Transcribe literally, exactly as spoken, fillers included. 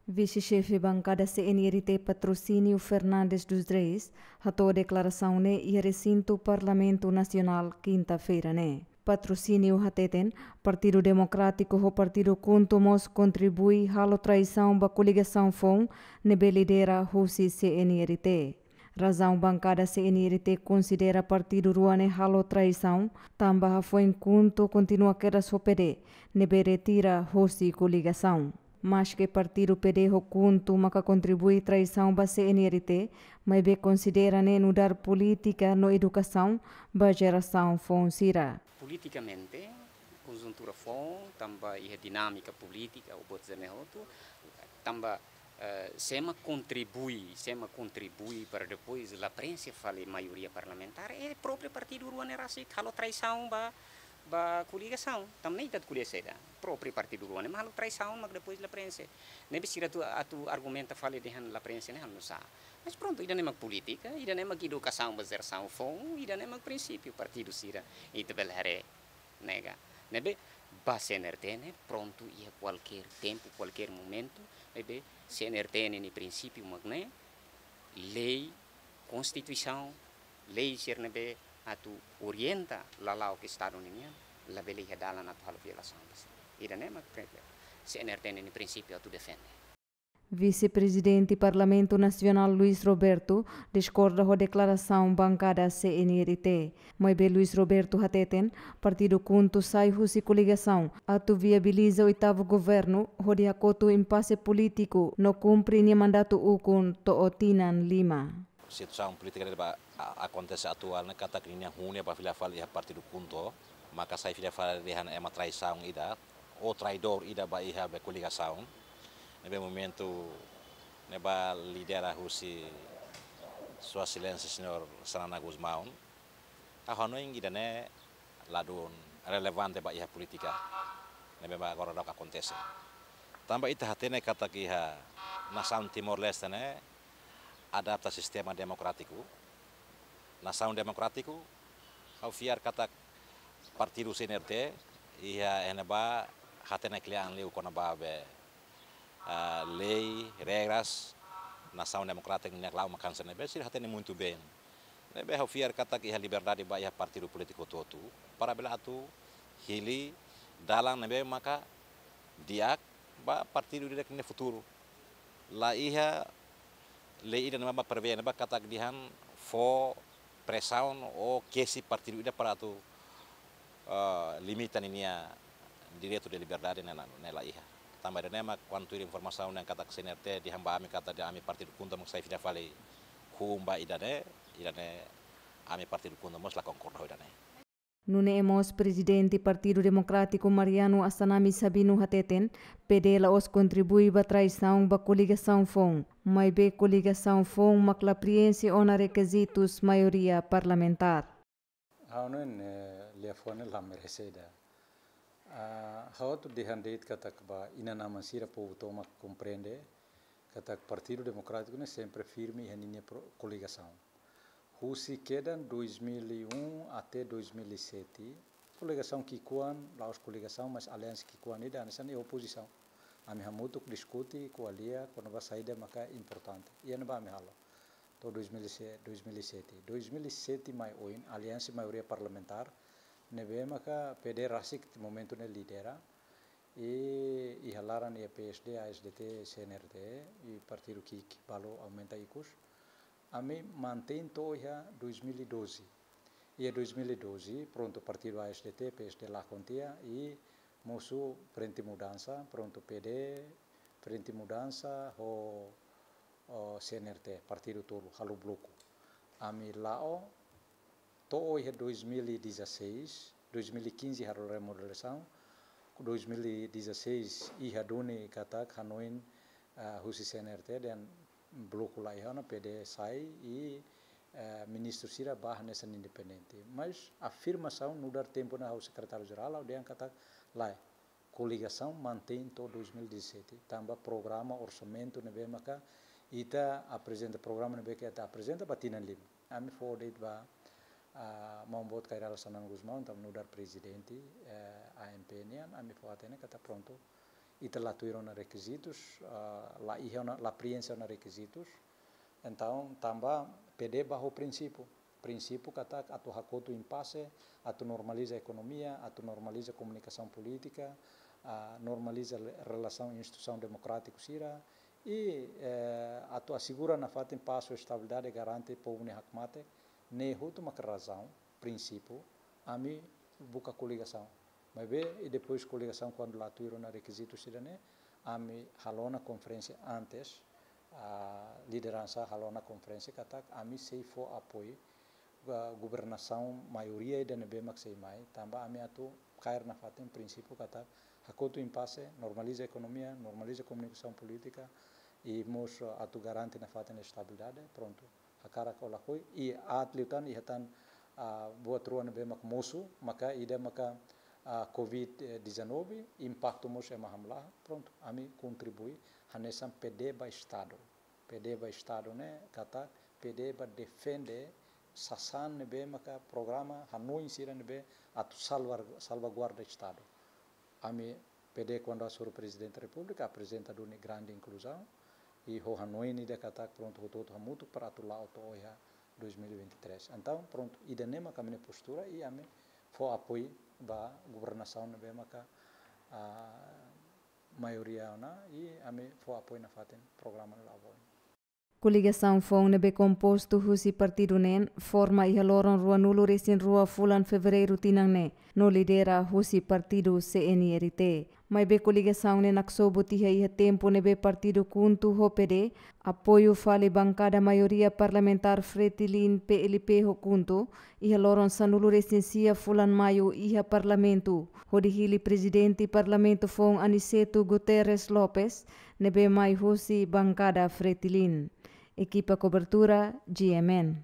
Vise-xefe bankada C N R T Patrocínio Fernandes dos Reis hato'o deklarasaun ne'e iha resintu Parlamentu Nasionál kinta-feira ne'e. Patrocínio hateten, Partidu Demokrátiku ho Partidu KHUNTO mós kontribui halo traisaun ba koligasaun foun ne'ebé lidera husi C N R T. Razaun bankada C N R T konsidera partidu rua ne'e halo traisaun, tanba hafoin KHUNTO kontinua kedas ho P D, ne'ebé retira husi koligasaun. Maske partidu P D ho KHUNTO maka kontribui traisaun ba C N R T, maibé konsidera ne'e nu'udar polítika no edukasaun ba jerasaun foun sira. Politikamente, konjuntura foun, tanba iha dinámika polítika, o botzeme hotu, tanba, eh, sema kontribui, sema kontribui para depois la prenxe fali maioria parlamentár, é própriu partidu rua ne'e rasik halo traisaun ba, ba koligasaun. Tanba ne'e ita ko'alia saida, própriu partidu rua ne'e mak halo traisaun, mak depois la prenxe. Ne'ebé sira atu, atu argumenta fali dehan la prenxe ne'e halo nusá. Mas prontu, ida-ne'e mak polítika, ida-ne'e mak edukasaun ba jerasaun foun, ida-ne'e mak prinsípiu partidu sira, ita bele haree nega. Ne'ebé ba C N R T ne'e prontu iha kualkér tempu, kualkér momentu, ne'ebé C N R T ne'e nia prinsípiu mak ne'e, lei, konstituisaun, lei sira ne'ebé atu orienta lala'ok Estadu ninian, labele iha dalan atu halo violasaun ba sira. Ida-ne'e mak pre-, C N R T ne'e nia prinsípiu atu defende. Vise-Prezidente Parlamentu Nasionál Luis Roberto diskorda ho deklarasaun bankada C N R T. Maibé Luis Roberto hateten, Partidu KHUNTO sai husi koligasaun atu viabiliza oitavu governu hodi hakotu impase polítiku no kumpre nia mandatu ukun to'o tinan lima. Situasaun polítika ne'ebé a-, akontese atuál ne'e katak ninia hune ba fila fali iha Partidu KHUNTO, maka sai fila fali dehan ema traisaun ida, ou traidór ida ba iha be koligasaun. Ne'ebé momentu ne'ebá lidera husi Sua Exelénsia Señór Xanana Gusmão. Ha'u hanoin ida-ne'e ladún relevante ba iha polítika ne'ebé agora daudaun akontese. Tanba ita hatene katak iha nasaun Timor-Leste ne'e adapta sistema demokrátiku. Nasaun demokrátiku, ha'u fiar katak partidu C N R T iha iha ne'ebá hatene kle'an liu kona-ba be, ah, lei, regras nasaun demokrátiku ne'e la'o mak hanesan ne'ebé, sira hatene muito bem. Ne'ebé ha'u fiar katak iha liberdade ba iha partidu polítiku hotu-hotu para bele atu hili dalan ne'ebé maka di'ak ba partidu ida-idak nia futuru. La iha lei ida ne'ebé mak prevee ne'ebá katak dehan fó presaun ou kesi partidu ida para atu, eh, limita ninia direitu de liberdade ne'e la, ne'e la iha. Tanba ida-ne'e mak kuandu tuir informasaun ne'e katak C N R T dehan ba ami katak dehan ami Partidu KHUNTO mak sai fila fali hun ba ida-ne'e, ida-ne'e ami Partidu KHUNTO mós la konkorda ho ida-ne'e. Nune'e mós Prezidente Partidu Demokrátiku Mariano Assanami Sabino hateten, P D la'ós kontribui ba traisaun ba koligasaun foun, maibé koligasaun foun mak la prenxe ona rekizitus maioria parlamentár. Ha'u hanoin, eh, liafuan ne'e la merese ida. Ah, ha'u atu dehan de'it katak ba inan-aman sira, povu tomak komprende katak Partidu Demokrátiku ne'e sempre firme iha ninia pro-, koligasaun. Husi kedan dois mil e um até dois mil e sete, koligasaun ki'ikoan, la'ós koligasaun, mas aliansa ki'ikoan ida hanesan iha opozisaun. Ami hamutuk diskute, ko'alia kona-ba saida maka importante. Iha ne'ebá ami halo. To'o dois mil e sete, dois mil e sete. Dois mil e sete mai oin, aliansa maioria parlamentár ne'ebé maka P D rasik momentu ne'e lidera. I iha laran iha P S D, A S D T, C N R T, i partidu ki'ik balu aumenta ikus. Ami mantein to'o iha dois mil e doze. Iha dois mil e doze, prontu, partidu A S D T, P S D lakon tiha, i mosu Frente Mudansa, prontu, P D, Frente Mudansa, ho, ho C N R T, partidu tolu, halo bloku. Ami la'o, to'o iha dois mil e dezasseis, dois mil e quinze halo remodelasaun, dois mil e dezasseis iha duni katak hanoin, ah, husi C N R T dehan bloku la iha ona, P D sai i, eh, ministru sira ba hanesan independente. Mas afirmasaun nu'udar tempu ne'e ha'u sekretáriu jerál, ha'u dehan katak lae, koligasaun mantein to'o dois mil e dezassete, tanba programa orsamentu ne'ebé maka ita aprezenta, programa ne'ebé ke ita aprezenta ba tinan lima. Ami fó de'it ba, ah, maun boot Kay Rala Xanana Gusmão, tanba nu'udar prezidente, eh, A M P nian, ami fó hatene katak prontu. ita la tuir ona rekizitus, ah, la iha ona, la prienxe ona rekizitus. Entaun, tanba P D ba ho prinsípiu. Prinsípiu katak atu hakotu impase, atu normaliza ekonomia, atu normaliza komunikasaun polítika, ah, normaliza le-, relasaun instituisaun demokrátiku sira, i, eh, atu asegura nafatin pás ho estabilidade, garante povu nia hakmatek, ne'e hotu maka razaun, prinsípiu, ami buka koligasaun. Maibé, i depois koligasaun kuandu la tuir ona rekizitu sira-ne'e, ami halo ona konferénsia antes, ah, lideransa halo ona konferénsia katak ami sei fó apoiu, ah, governasaun maioria ida ne'ebé mak sei mai, tanba ami atu kaer nafatin prinsípiu katak hakotu impase, normaliza ekonomia, normaliza komunikasaun polítika, i mós, ah, atu garante nafatin estabilidade, prontu. Hakarak ka lakohi, i aat liután iha tan, ah, buat rua ne'ebé mak mosu, maka ida maka, ah, covid dezanove, impaktu mós ema hamlaha, prontu, ami kontribui, hanesan P D ba Estadu. P D ba Estadu ne'e, katak P D ba defende sasán ne'ebé maka programa hanoin sira ne'ebé atu salvar-, salvaguarda Estadu. Ami P D kuandu asur Prezidente Repúblika, aprezenta duni grande inkluzaun, i ho hanoin ida katak prontu hotu-hotu hamutuk para atu la'o to'o iha dois mil e vinte e três. Entaun, prontu, ida-ne'e maka ami-nia postura i ami fó apoiu ba governasaun ne'ebé maka, ah, maioria ona i ami fó apoiu nafatin programa ne'e la'o ba oin. Koligasaun foun ne'ebé kompostu husi partidu neen forma iha loron ruanulu-resin-rua fulan Fevereiru tinan ne'e, no lidera husi partidu C N R T. Maibé koligasaun ne'e naksobu tiha iha tempu ne'ebé partidu KHUNTO ho P D apoiu fali bankada maioria parlamentár Fretilin, P L P ho KHUNTO iha loron sanulu-resin-sia fulan Maiu iha Parlamentu, hodi hili Prezidente Parlamentu foun Aniceto Guterres Lopes, ne'ebé mai husi bankada Fretilin. Ekipa kobertura, G M N.